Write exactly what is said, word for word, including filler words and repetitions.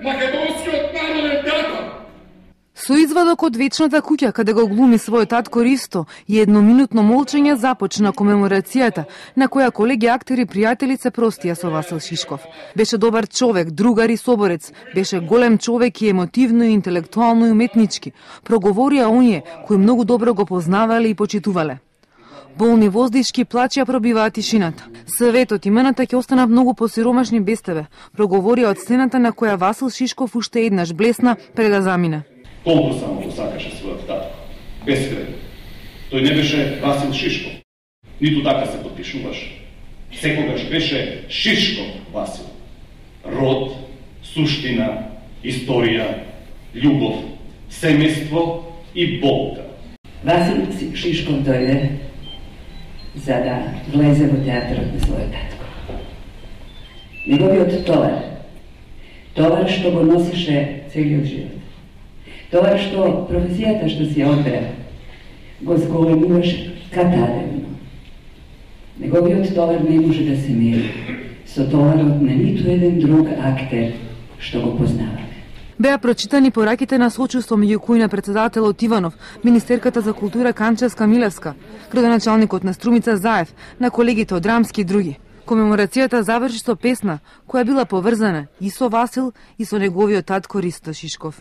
македонскиот народен театар. Со извадок од вечната куќа, каде го глуми својот татко Ристо, и едноминутно молчење започна комеморацијата, на која колеги актери и пријатели се простија со Васил Шишков. Беше добар човек, другар и соборец, беше голем човек и емотивно, и интелектуално и уметнички. Проговорија оние кои многу добро го познавале и почитувале. Болни воздишки плачја пробиваат тишината. Светот имената ќе останат многу посиромашни без тебе, проговорија од сцената на која Васил Шишков уште еднаш блесна пред да замине. Толку само го сакаше својот татко. Бескрен. Тој не беше Васил Шишков. Ниту така се подпишуваше. Секогаш беше Шишков Васил. Род, суштина, историја, љубов, семејство и болка. Васил Шишков дојде за да влезе во театарот на својот татко. Неговиот товар, товар што го носише целиот живот, товар што професијата што си одбра, го зголемуваше катадевно. Неговиот товар не може да се мери со товарот на ниту еден друг актер што го познаваме. Беа прочитани пораките на сочувство меѓу кои на председателот Иванов, министерката за култура Канчевска Милевска, градоначалникот на Струмица Заев, на колегите од Рамски и други. Комеморацијата заврши со песна која била поврзана и со Васил и со неговиот татко Ристо Шишков.